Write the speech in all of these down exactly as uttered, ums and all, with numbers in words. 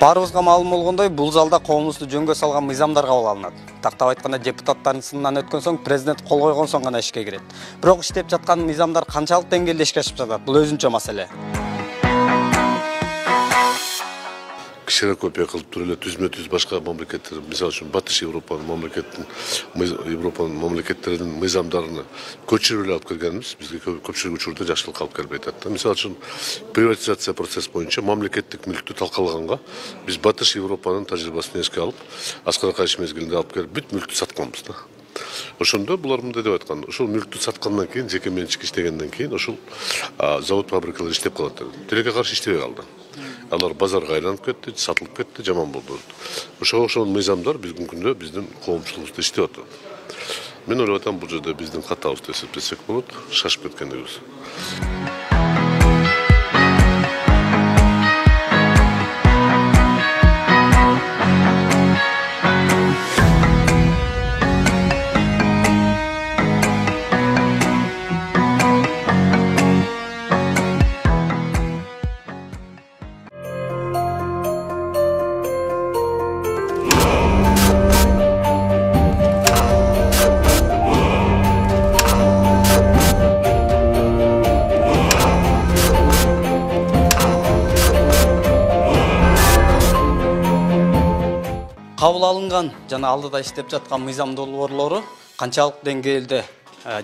Баарыбызга маалым болгондой, бул залда коомубузду жөнгө салган мыйзамдар кабыл алынат. Тактап айтканда, депутаттардын сынынан өткөн соң президент кол койгон соң гана ишке кирет. Бирок иштеп жаткан мыйзамдар канчалык деңгээлде ишке ашып жатат? Бул өзүнчө маселе. Ксерокопия кылып туруп эле түзмө түз башка мамлекеттер, мисалы үчүн Батыш Европанын мамлекеттин Европанын мамлекеттеринин мыйзамдарын көчүрүп эле алып келгенбиз. Бизге көпчүлүк учурда жакшылык алып келбей атат. Мисалы үчүн приватизация процесс боюнча мамлекеттик мүлктү талкалаганга биз Батыш Европанын тажрыйбасын эске алып, аскарка иш мезгилинде алып келип бүт мүлктү сатканбыз да. Ошондо булар мындай деп айткан, ошол мүлктү саткандан кийин, жеке менчик иштегенден кийин ошол завод фабрикалар иштеп калат. Тилекке каршы иштебей калды. Алар базарга айланып кетти, сатылып кетти, жаман болду. Ошого окшогон мыйзамдар биздин күндө биздин коомчулугубузда иштеп атат. Мен ойлоп атам, бул жерде биздин катабызды эсептесек болот, шашып кеткендигибиз. Кабыл алынган жана алдыда иштеп жаткан мыйзам долбоорлору канчалык деңгээлде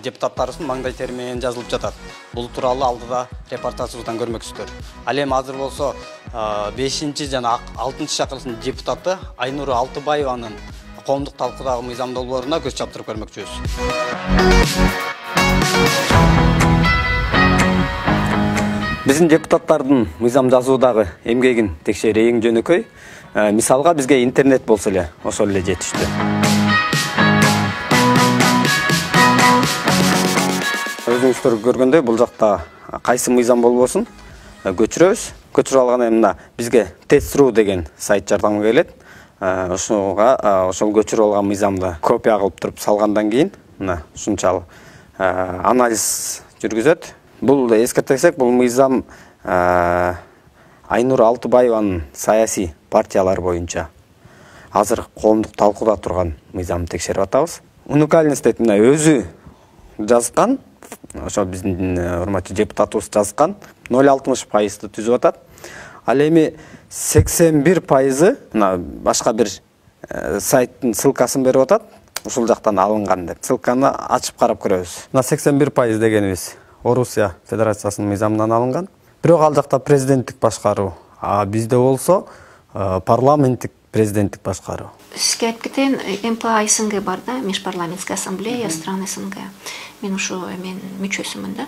депутаттарыбыздын маңдай тери менен жазылып жатат. Бул тууралуу алдыда репортажыбыздан көрмөксүздөр. Ал эми азыр болсо бешинчи жана алтынчы чакырылыштын депутаты Айнур Алтыбаеванын коомдук талкуудагы мыйзам долбооруна көз чаптырып көрмөкчүбүз. Биздин депутаттардын мыйзам жазуудагы эмгегин текшерүү эң жөнөкөй. Мисалга бизге интернет болсо эле, ошол эле жетиштүү. Өзүңүздөр көргөндөй, бул жакта кайсы мыйзам болбосун көчүрөбүз. Көчүрүп алган эмне бизге тест.ру деген сайт жардамга келет. Ошого ошол көчүрүп алган мыйзамды копия кылып туруп салгандан кийин, мына ушунчалык анализ жүргүзөт. Бул эскертсек, бул мыйзам Айнур Алтыбаеванын саясий партиялар боюнча азыр коомдук талкууда турган мыйзамды текшерип атабыз. Уникальность дейт, мына өзү жазган, ошо биздин урматтуу депутатыбыз жазган ноль алтымыш пайызды түзүп атат. Ал эми сексен бир пайызы мына башка бир сайттын ссылкасын берип атат. Ушул жактан алынган деп. Ссылканы ачып карап көрөбүз. Мына сексен бир пайыз дегенибиз Орусия Федерациясынын мыйзамынан алынган. Бирок ал жакта президенттик башкаруу, а бизде болсо парламенттик президенттик башкаруу. Сизге айтып кетейин, эм пэ а СНГ бар да, Межпарламентская ассамблея стран СНГ. Мен ушу мен мүчөсүмүн да.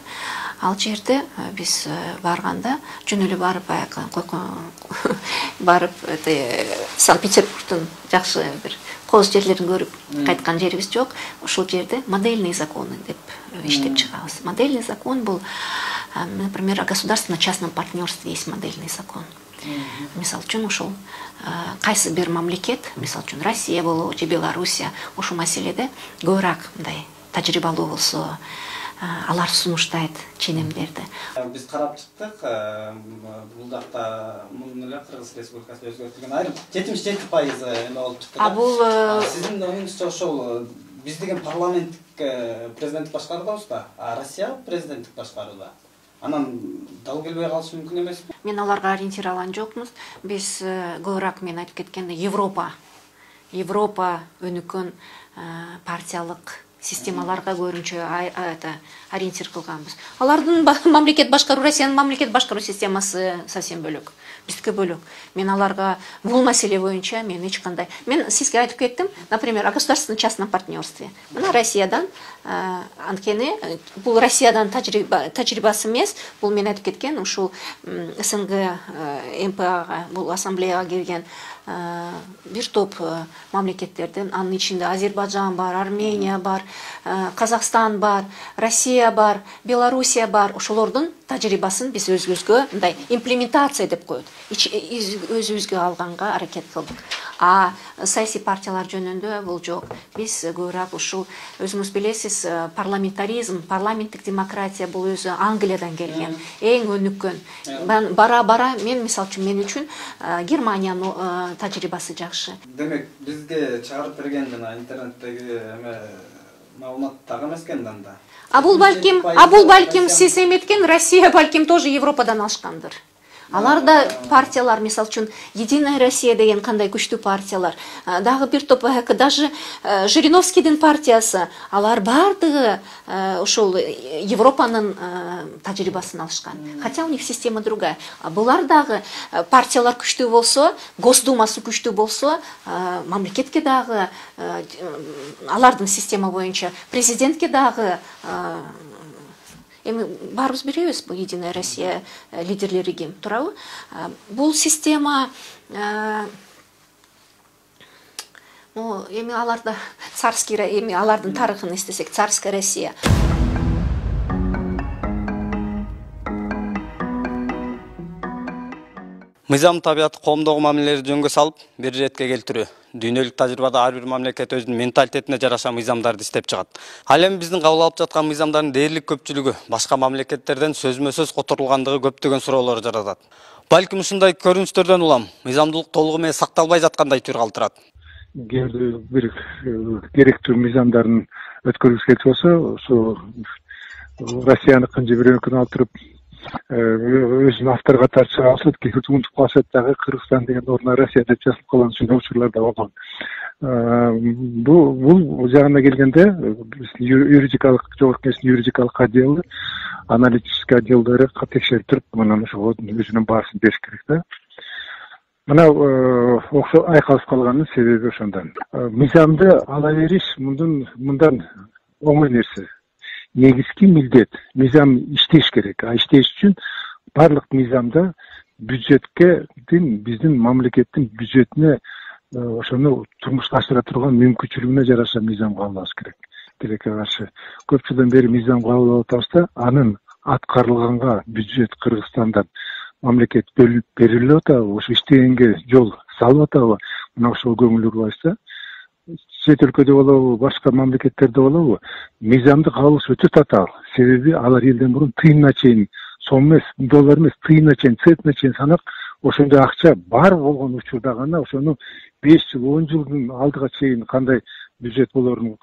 Ал жерде биз барганда жөн эле барып барып Санкт-Петербургдун жакшы бир коз жерлерин көрүп кайткан жерибиз жок. Ошол жерде модельные законы деп иштеп чыгабыз. Модельный закон бул, например, о государственно-частном партнерстве есть модельный закон. Мисал үчүн ушул кайсы бир мамлекет, мисал үчүн Россия болобу же Белоруссия, ушул маселеде көбүрөөк мындай тажрыйбалуу болсо, алар сунуштайт ченемдерди. Биз карап чыктык, бул жакта муну эле Кыргыз Республикасында өзгөртүлгөн айрым жетимиш жети пайыз эме болуп чыкты. А бул сиздин оюңузча ошол биз деген парламенттик президенттик башкаруудабыз да, а Россия президенттик башкарууда. Анан дал келбей калышы мүмкүн эмеспи? Мен аларга ориентирован жокмуз. Биз көбүрөөк мен айтып кеткенде Европа, Европа өнүккөн партиялык системаларга көрүнчө ориентир кылганбыз. Алардын мамлекет башкаруу, Россиянын мамлекет башкаруу системасы совсем бөлөк. Биздики бөлөк. Мен аларга бул маселе боюнча мен эч кандай. Мен сизге айтып кеттим, например, о государственно-частном партнерстве. Мына Россиядан анткени бул Россиядан тажрыйбасы эмес, бул мен айтып кеткен ушул СНГ эм пэ ага, бул ассамблеяга кирген бир топ мамлекеттерден, анын ичинде Азербайжан бар, Армения бар, Казакстан бар, Россия бар, Белоруссия бар. Ошолордун тажрыйбасын биз өзүбүзгө мындай имплементация деп коет. Өзүбүзгө алганга аракет кылдык. А саясий партиялар жөнүндө бул жок. Биз көбүрөөк ушул өзүңүз билесиз, парламентаризм, парламенттик демократия бул өзү Англиядан келген, эң өнүккөн. Бара бара мен мисалы үчүн мен үчүн Германиянын тажрыйбасы жакшы. Демек бизге чыгарып берген жана интернеттеги эме маалымат так эмес экен да. А бул балким, а бул балким сиз эметкен, Россия балким тоже Европадан алышкандыр. Алар да партиялар, мисалы үчүн Единая Россия деген кандай күчтүү партиялар. Дагы бир топ, даже Жириновскийдин партиясы, алар бардыгы ушул Европанын тажрыйбасын алышкан. Хотя у них система другая. Булар дагы партиялар күчтүү болсо, Госдумасы күчтүү болсо, мамлекетке дагы алардын система боюнча президентке дагы эми баарыбыз билебиз, бул Единая Россия лидерлери ким, туурабы? Бул система ну эми аларда царский, эми алардын тарыхын эстесек, царская Россия. Мыйзам табият коомдогу мамилелерди жөнгө салып, бир иретке келтирүү. Дүйнөлүк тажрыйбада ар бир мамлекет өзүнүн менталитетине жараша мыйзамдарды иштеп чыгат. Ал эми биздин кабыл алып жаткан мыйзамдардын дээрлик көпчүлүгү башка мамлекеттерден сөзмө-сөз которулгандыгы көптөгөн суроолор жаратат. Балким ушундай көрүнүштөрдөн улам мыйзамдуулук толугу менен сакталбай жаткандай түр калтырат. Бир керектүү мыйзамдарын өткөргүбүз келип болсо, ошо Россияныкын же бирөөнүкүн алып туруп өзүнүн автор катары чыга алышат, кээ унутуп калышат дагы Кыргызстан деген ордуна Россия деп жазылып калган ушундай учурлар да болгон. Бул бул жагына келгенде юридикалык жогорку кеңештин юридикалык отделы, аналитический отделдери текшерип туруп, анан ошого өзүнүн баасын бериш керек да. Мына окшо айкалып калганын себеби ошондон. Мыйзамды ала бериш мындан мындан оңой нерсе. Негизги милдет мыйзам иштеш керек. А иштеш үчүн барлык мыйзамда бюджетке, биздин мамлекеттин бюджетине ошону турмушка ашыра турган мүмкүнчүлүгүнө жараша мыйзам кабыл алыш керек. Тилекке каршы көп жылдан бери мыйзам кабыл алып атабыз да, анын аткарылганга бюджет Кыргызстандан мамлекет бөлүп берилип атабы, ошо иштегенге жол салып атабы, мына ошол көңүл бурбайбыз. Чет өлкөдө болобу, башка мамлекеттерде болобу, мыйзамды кабыл алыш өтө татаал. Себеби алар элден мурун тыйынына чейин, сом эмес, доллар эмес, тыйынына чейин, центине чейин санап, ошондой акча бар болгон учурда гана ошону беш жыл, он жылдын алдыга чейин кандай бюджет болорун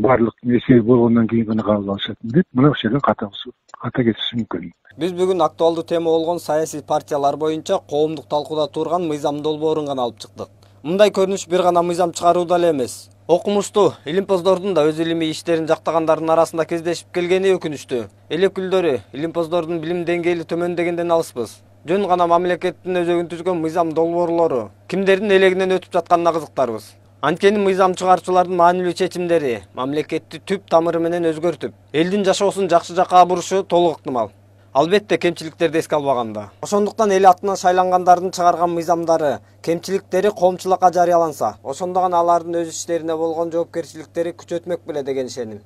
барлык эсеби болгондон кийин гана кабыл алышат деп, мына ошол жерден ката ката кетиши мүмкүн. Биз бүгүн актуалдуу тема болгон саясий партиялар боюнча коомдук талкууда турган мыйзам долбоорун гана алып чыктык. Мындай көрүнүш бир гана мыйзам чыгарууда эле эмес. Окумуштуу илимпоздордун да өз илимий иштерин жактагандардын арасында кездешип келгени өкүнүчтүү. Эл өкүлдөрү илимпоздордун билим деңгээли төмөндөгөндөн алыспыз. Жөн гана мамлекеттин өзөгүн түзгөн мыйзам долбоорлору кимдердин элегинен өтүп жатканына кызыктарбыз. Анткени мыйзам чыгаруучулардын маанилүү чечимдери мамлекетти түп тамыры менен өзгөртүп, элдин жашоосун жакшы жакка бурушу толук ыктымал. Албетте кемчиликтерди эске албаганда. Ошондуктан эл атынан шайлангандардын чыгарган мыйзамдары, кемчиликтери коомчулукка жарыяланса, ошондо гана алардын өз иштерине болгон жоопкерчиликтери күчөтмөк беле деген ишеним.